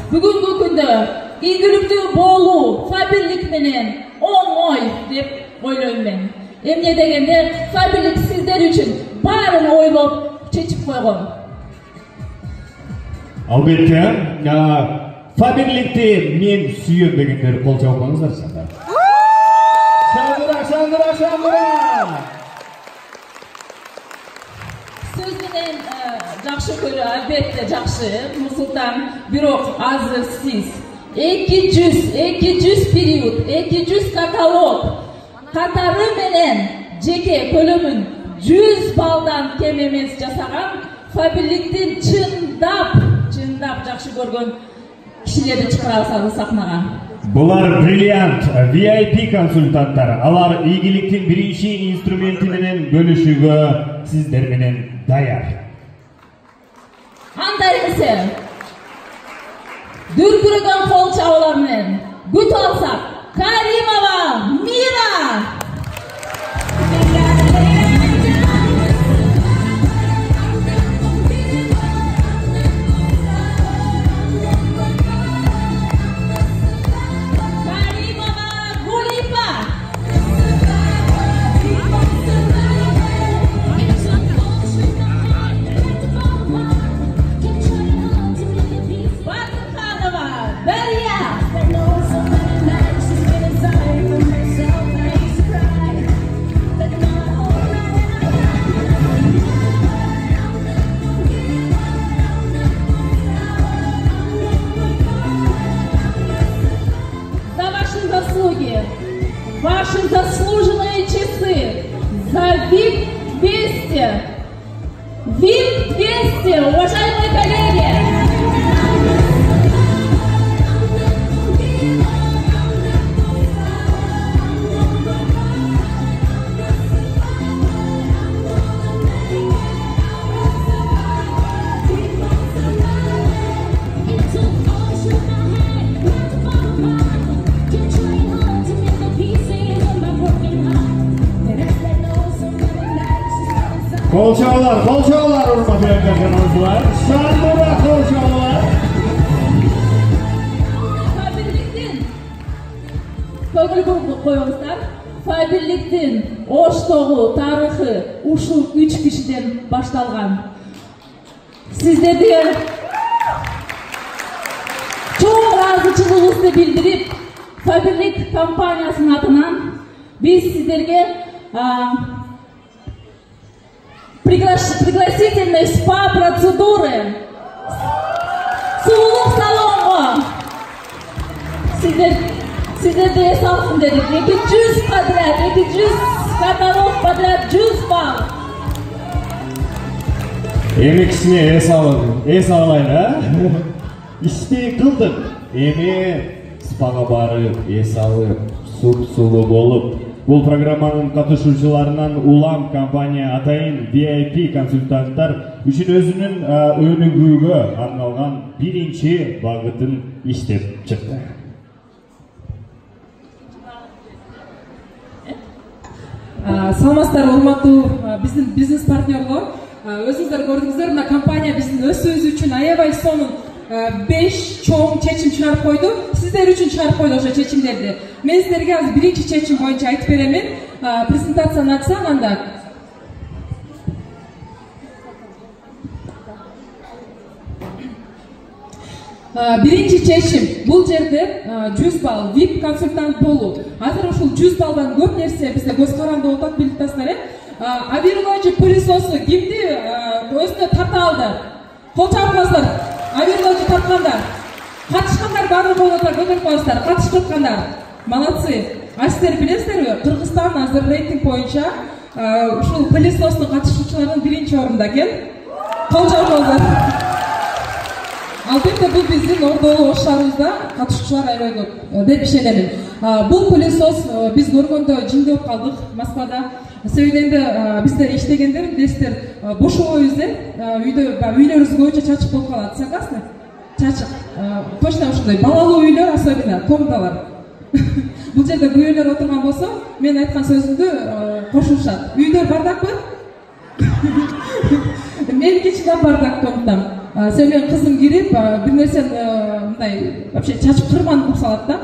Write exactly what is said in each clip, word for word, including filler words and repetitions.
Бүгүнкү күндө ийгиликтүү болуу Фаберлик менен оңой деп ойлойм мен. Эмне дегенде Фаберлик сиздер үчүн баарын ойлоп чечип койгон. Албетте, Фаберликти мен сүйөм дегендер кол чабыңыздарчы. Шаңдыра, шаңдыра, шаңдыра! Сөз менен жакшы көрүү, албетте жакшы, Нурсултан, бирок азыр сиз эки жүз, эки жүз период, эки жүз каталог катары менен жеке көлөмүн жүз балдан кем эмес жасаган Фаберликтин чындап, чындап жакшы көргөн кишилерди чыгарабыз сахнага. Булар бриллиант ви ай пи консультанттар. Алар ийгиликтин биринчи инструменти менен бөлүшүүгө сиздер менен даяр. Анда эмесе дүркүрөгөн кол чабуулар менен күтүп алсак, Каримова Мира! Ваши заслуженные часы за ВИП двести. ВИП двести, уважаемые коллеги! Кол чабуулар, кол чабуулар, урматтуу көрөрмандар. Шаңдыра кол чабуулар. Фаберликтин көңүл коюңуздар. Фаберликтин Оштогу тарыхы ушул үч кишиден башталган. Сиздерге чоң ыраазычылыгыбызды билдирип, Фаберлик компаниясынын атынан биз сиздерге пригласительные спа-процедуры сулуулук салонго сиздер сиздерди эс алсын дедик. эки жүз подряд, эки жүз каталог подряд, жүз балл. Эми кичине эс алып, эс алайлы, а? Ишти кылдык. Эми спага барып, эс алып, суп-сулуу болуп, бул программанын катышуучуларынан улам компания атайын ви ай пи консультанттар үчүн өзүнүн өнүгүүгө арналган биринчи багытын иштеп чыкты. Саламатсыздар, урматтуу биздин бизнес партнерлор. Өзүңүздөр көрдүңүздөр, мына компания биздин өсүүбүз үчүн аябай сонун беш чоң чечим чыгарып койду. Сиздер үчүн чыгарып койду ошо чечимдерди. Мен сиздерге азыр биринчи чечим боюнча айтып беремин. Презентацияны ачсам анда. Биринчи чечим бул жерде жүз балл вип консультант болуу. Азыр ушул жүз балдан көп нерсе бизде көз каранды болуп атат, билип атасыздар, э? Авирлоочу пылесосу кимди өзүнө тарта алды? Кол чабып коесуздар. Авирлоочу тарткандар. Катышкандар баары колдор көтөрүп коесуздар. Катышып аткандар. Молодцы. А сиздер билесиздерби? Кыргызстан азыр рейтинг боюнча ушул пылесостун катышуучуларынын биринчи орунда экен. Кол чабып коесуздар. Албетте бул биздин Ордолуу Ош шаарыбызда катышуучулар аябай көп деп ишенемин. Бул пылесос биз көргөндө жиң деп калдык Москвада. Себеби энди бизде иштегендер билесиздер, бошобойбуз, э? Үйдө үйлөрүбүз көбүнчө чачык болуп калат. Согласны? Чачык. Точно ушундай балалуу үйлөр, особенно комнаталар. Бул жерде күйөөлөр отурган болсо, мен айткан сөзүмдү кошулушат. Үйдөр бардакпы? Меники чындап бардак комнатам. сен менен кызым кирип бир нерсени мындай вообще чачып кырман кылып салат да.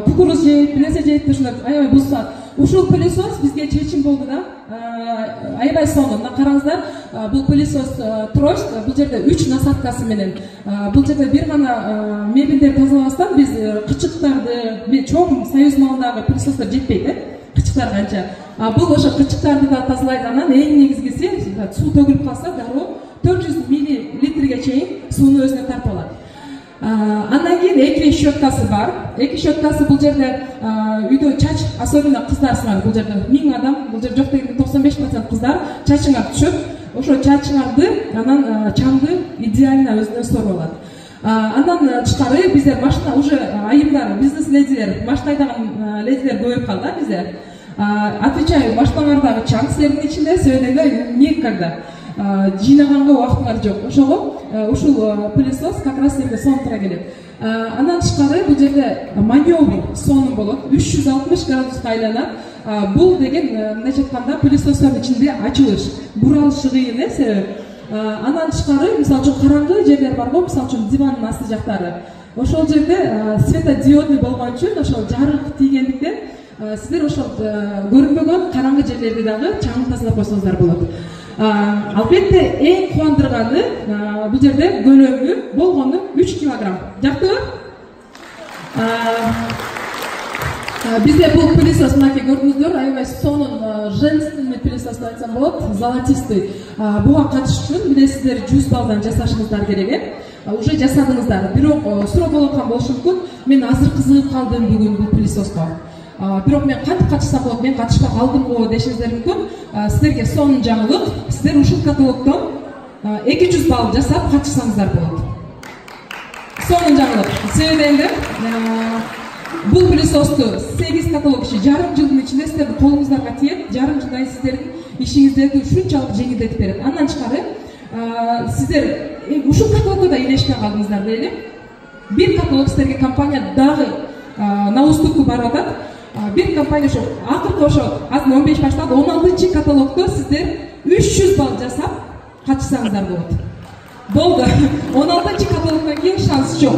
Кукуруз жейт, бир нерсе жейт, ушундай аябай бузсат. Ушул пылесос бизге чечим болду да. Аябай сонун. Мына караңыздар, бул пылесос трость, бул жерде үч насадкасы менен. Бул жерде бир гана мебелдерди тазалабастан биз кычыктарды, чоң Союз малындагы пылесостор жетпейт, э? Кычыктар канча. Бул ошо кычыктарды да тазалайт. Анан эң негизгиси, суу төгүлүп калса, дароо төрт жүз миллилитрге чейин сууну өзүнө тартып алат. Андан кийин эки щеткасы бар. Эки щеткасы бул жерде үйдө чач, особенно кыздарсыңар, бул жерде миң адам, бул жерде жок дегенде токсон беш процент кыздар чачыңар түшөт. Ошо чачыңарды анан чаңды идеально өзүнө соруп алат. Андан тышкары биздер машина уже айымдар, бизнес ледилер, машина айдаган ледилер көбөйүп калды да бизде. Отвечаю, машиналардагы чаң силердин ичинде, себеби никогда жыйнаганга убактыңар жок. Ошого ушул пылесос как раз силерге сонуктура келет. Андан тышкары бул жерде маневр сонун болот. үч жүз алтымыш градуска айланат. Бул деген мындайча айтканда пылесостордун ичинде ачылыш, буралышы кыйын, э, себеби. Андан тышкары, мисалы үчүн караңгы жерлер бар го, мисалы үчүн дивандын асты жактары. Ошол жерде светодиодный болгон үчүн, ошол жарык тийгендиктен сиздер ошол көрүнбөгөн караңгы жерлерди дагы чаңын тазалап койсоңуздар болот. Албетте эң кубандырганы бул жерде көлөмү болгону үч килограмм. Жактыбы? Бизде бул пылесос мынакей көрдүңүздөр, аябай сонун женственный пылесос деп айтсам болот, золотистый. Буга катышыш үчүн билесиздер жүз балдан жасашыңыздар керек, э? Уже жасадыңыздар. Бирок суроо болуп аткан болушу мүмкүн. Мен азыр кызыгып калдым бүгүн бул пылесоско. Бирок мен кантип катышсам болот, мен катышпай калдым го дешиңиздер мүмкүн. Сиздерге сонун жаңылык. Сиздер ушул каталогдон эки жүз балл жасап катышсаңыздар болот. Сонун жаңылык. Себеби дегенде, бул пылесосту сегиз каталог иши жарым жылдын ичинде сиздердин колуңуздарга тиет, жарым жылдан сиздердин ишиңиздерди ушунчалык жеңилдетип берет. Андан тышкары сиздер ушул каталогдо да илешпей калдыңыздар дейли. Бир каталог сиздерге компания дагы на уступку барып атат. Бир компания ошо акыркы ошо азыр он беш башталды, он алтынчы каталогдо сиздер үч жүз балл жасап катышсаңыздар болот. Болду. он алтынчы каталогдон кийин шанс жок.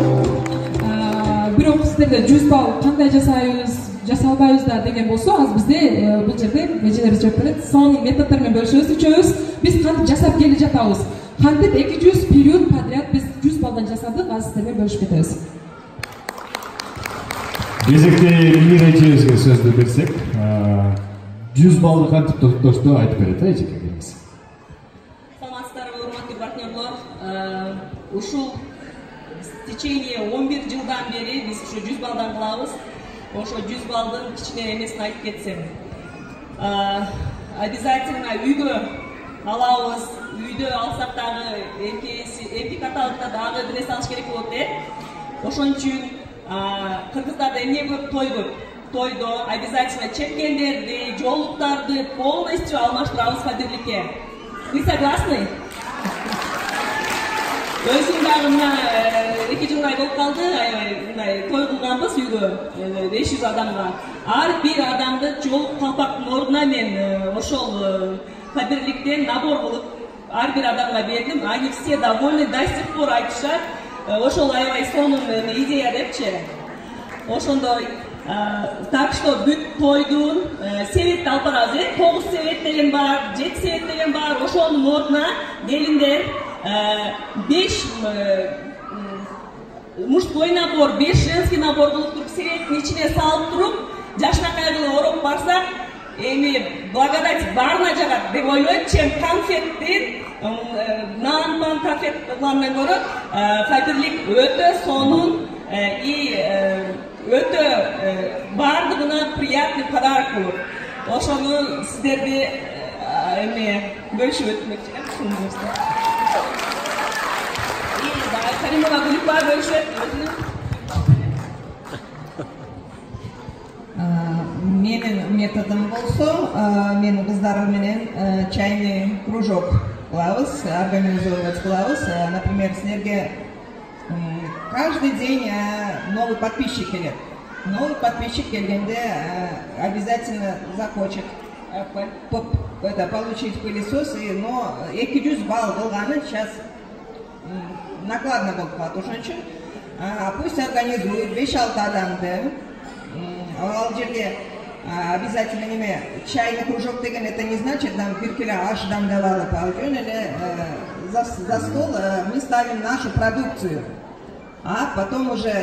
Бирок сиздерде жүз балл кандай жасайбыз, жасалбайбыз да деген болсо, азыр бизде бул жерде эжелерибиз жооп берет. Сонун методдор менен бөлүшөбүз, үчөөбүз. Биз кантип жасап келе жатабыз. Кантип эки жүз период подряд биз жүз балдан жасадык, азыр сиздер менен бөлүшүп кетебиз. Кезекте Мира эжебизге сөздү берсек, жүз балды кантип токтошту айтып берет, э, эжеке келиңиз. Саламатсыздарбы, урматтуу партнерлор. Ушул в течение он бир жылдан бери биз ушу жүз балдан кылабыз. Ошо жүз балдын кичине эмесин айтып кетсем. Обязательно үйгө алабыз. Үйдө алсак дагы эки каталогда дагы бир нерсе алыш керек болот, э. Ошон үчүн кыргыздарда эмне көп, той көп. Тойдо обязательно чепкендерди, жоолуктарды полностью алмаштырабыз фатирликке. Вы согласны? Өзүм дагы мына эки жылдай болуп калды, мындай той кылганбыз үйгө беш жүз адамга. Ар бир адамды жоолук калпактын ордуна мен ошол фатирликтен набор кылып ар бир адамга бердим. Они все довольны, до сих пор айтышат. Ошол аябай сонун идея депчи. Ошондой, так что бүт тойдун себетти алып барабыз, э? тогуз себет деген бар, жети себет деген бар. Ошонун ордуна келиндер беш мужской набор, беш женский набор кылып туруп, себеттин ичине салып туруп, жашнакай кылып ороп барсак, эми благодать баарына жагат деп ойлойм, чем конфеттин нан-пан конфет кылгандан көрө фатирлик өтө сонун и өтө баардыгына приятный подарок болот. Ошону сиздерди эме бөлүшүп өтмөкчүмүн. И Каримова Гуликова бөлүшөт. Менин методум болсо, мен кыздар менен чайный кружок кылабыз, организовать кылабыз. Например, силерге каждый день новый подписчик келет. Новый подписчик келгенде обязательно захочет это, получить пылесос, но эки жүз балл кылганы сейчас накладно болуп калат ошон үчүн пусть организует беш алты адамды. Ал жерде обязательно неме чайный кружок деген это не значит нам бир келе аш дамдап алып, ал жөн эле за стол мы ставим нашу продукцию. А потом уже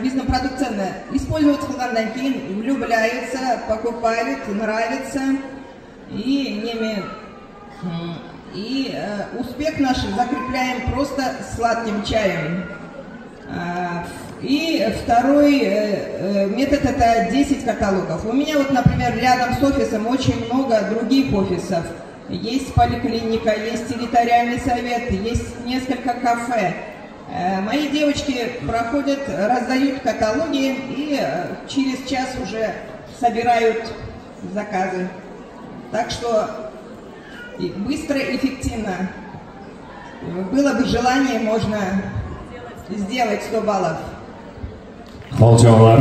бизнес продукцияны использовать кылгандан кийин влюбляются, покупают, нравится и неме и успех наш закрепляем просто сладким чаем. И второй метод это десять каталогов. У меня вот, например, рядом с офисом очень много других офисов. Есть поликлиника, есть территориальный совет, есть несколько кафе. Мои девочки проходят, раздают каталоги и через час уже собирают заказы. Так что быстро и эффективно. Было бы желание, можно сделать сто баллов. Холчалар.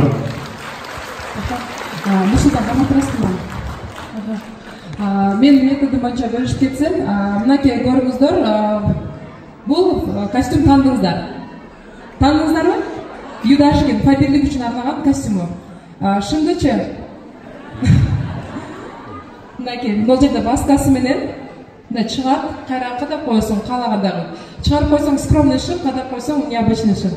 Нурсултан, каматырасызбы? Мен методум боюнча бөлүшүп кетсем, мынакей көрүңүздөр, бул костюм таандыңыздар. Таандыңыздарбы? Юдашкин фаберлик үчүн арнаган костюму. Шындычы мынакей бул жерде баскасы менен мына чыгат, кайра кадап койсоң каалагандагы. Чыгарып койсоң скромный шим, кадап койсоң необычный шим.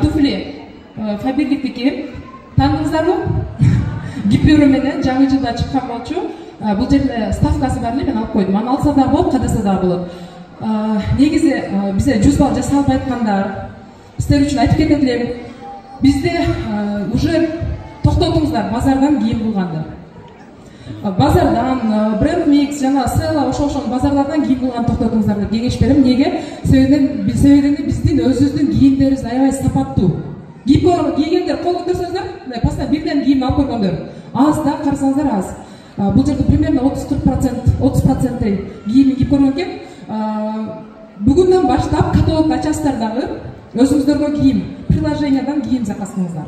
Туфли фаберликтики таандыңыздарбы? Гипюру менен жаңы жылда чыккан болчу. Бул жерде ставкасы бар эле, мен алып койдум. Аны алса да болот, кадаса да болот. Негизи бизде жүз балл жасалып айткандар, сиздер үчүн айтып кетет элем. Бизде уже токтотуңуздар базардан кийим кылганды. Базардан, бренд микс, жана села, ошол ошол базарлардан кийим кылган токтотуңуздар деп кеңеш берем. Неге? Себеби биздин өзүбүздүн кийимдерибиз аябай сапаттуу. Кийгендер кол көтөрсөңүздөр, пастан бирден кийим алып койгондор. Аз да карасаңыздар аз. Бул жерде примерно отуз процент кийимин кийип көргөн экен. Бүгүндөн баштап каталог ачасыздар дагы, өзүңүздөргө кийим, приложениядан кийим заказ кылыңыздар.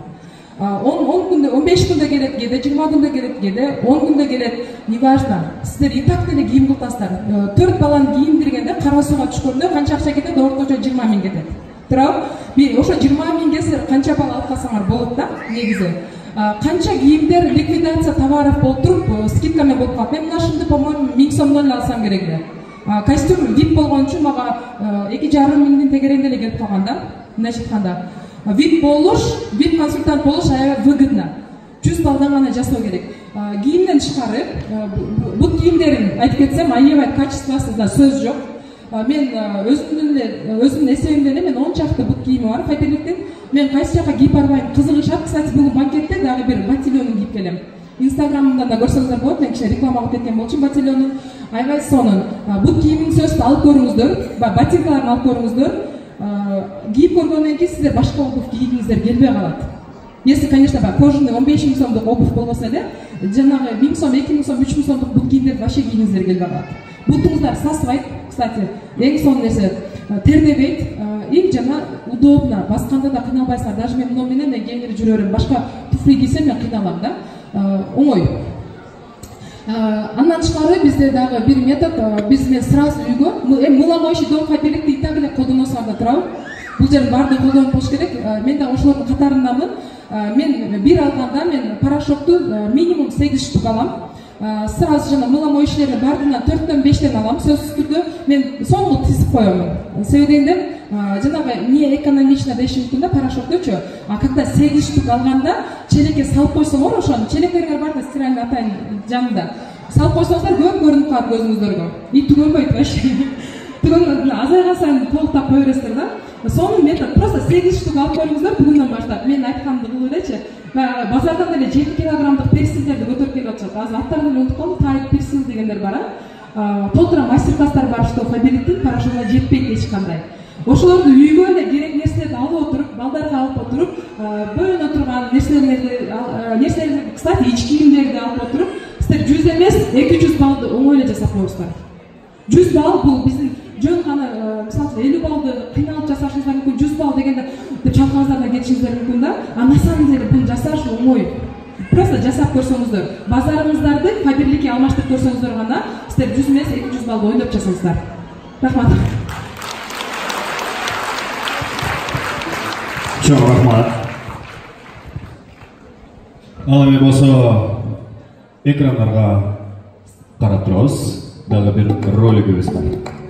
он күндө, он беш күндө келет, кээде жыйырма күндө келет, кээде он күндө келет, неважно. Сиздер и так деле кийим кылтасыздар. төрт баланы кийимдиргенде кара сууга түшкөндө канча акча кетет? Орточо жыйырма миң кетет. Туурабы? Бир ошо жыйырма миңге сиздер канча бала алып калсаңар болот да, негизи. Канча кийимдер ликвидация товаров болуп туруп, скидкамен болуп калат. Мен мына по-моему миң сомдон эле алсам керек эле. Костюм вип болгон үчүн мага эки жарым миңдин тегерегинде эле келип калган да. Мындайча айтканда, вип болуш, вип консультант болуш аябай выгодно. жүз балдан гана жасоо керек. Кийимден тышкары, бут кийимдерин айтып кетсем, аябай качествосунда сөз жок. Мен өзүмдүн эле өзүмдүн эсебимде эле мен он чакты бут кийими бар фаберликтин. Мен кайсы жака кийип барбайм, кызыгышат. Кстати, бул банкетте дагы бир ботильонун кийип келем. Инстаграмымда да көрсөңүздөр болот, мен кичине реклама кылып кеткен болчумун ботильонун. Аябай сонун. Бут кийимин сөзсүз алып көрүңүздөр, ботинкаларын алып көрүңүздөр. Кийип көргөндөн кийин сиздер башка обувь кийгиңиздер келбей калат. Если, конечно, кожаный он беш миң сомдук обувь болбосо эле, жанагы миң сом, эки миң сом, үч миң сомдук бут кийимдерди вообще кийгиңиздер келбей калат. Бутуңуздар сасыбайт, кстати, эң сонун нерсе тердебейт и жана удобно. Басканда да кыйналбайсыңар. Даже мен муну менен мен кеңири жүрө берем. Башка туфли кийсем мен кыйналам да. Оңой. Андан тышкары бизде дагы бир метод, биз мен сразу үйгө мыломоющий дом фаберликти и так эле колдоносуңар да туурабы? Бул жердин баардыгы колдонуп болуш керек. Мен да ошолордун катарындамын. Мен бир алганда мен порошокту минимум сегиз штук алам. Сразу жана мыломоющийлерди баардыгынан төрттөн бештен алам. Сөзсүз түрдө мен соңку тизип коем. Себеби дегенде жанагы не экономично дешим мүмкүн да порошоктучу. А когда сегиз штук алганда челекке салып койсоңор, ошону челектериңер бар да стиральный атайын жанында. Салып койсоңуздар көп көрүнүп калат көзүңүздөргө. И түгөнбөйт вообще. Түгөн азайган сайын толуктап кое бересиздер да. Сонун метод. Просто сегиз штук алып коюңуздар бүгүндөн баштап. Мен айтканымды кылып элечи. Базардан деле жети килограммдык персилдерди көтөрүп келип атышат. Азыр аттарын эле унутуп калдым. Тайт персил дегендер бар, а. Толтура мастер-класстар бар, что фаберликтин порошогуна жетпейт эч кандай. Ошолорду үйгө эле керек нерселерди алып отуруп, балдарга алып отуруп, бөлүнө турган нерселерди, нерселерди, кстати, ич кийимдерди алып отуруп, сиздер жүз эмес, эки жүз баллды оңой эле жасап коесуздар. жүз балл бул биздин жөн гана, мисалы элүү баллды кыйналып жасашыңыздар мүмкүн, жүз балл дегенде чалкаңыздардан кетишиңиздер мүмкүн да. А на самом деле буну жасаш оңой. Просто жасап көрсөңүздөр, базарыңыздарды фаберликке алмаштырып көрсөңүздөр гана сиздер жүз эмес, эки жүз баллды ойноп жасайсыздар. Рахмат. Чоң рахмат. Ал эми болсо экрандарга карап турабыз. Дагы бир ролигибиз бар.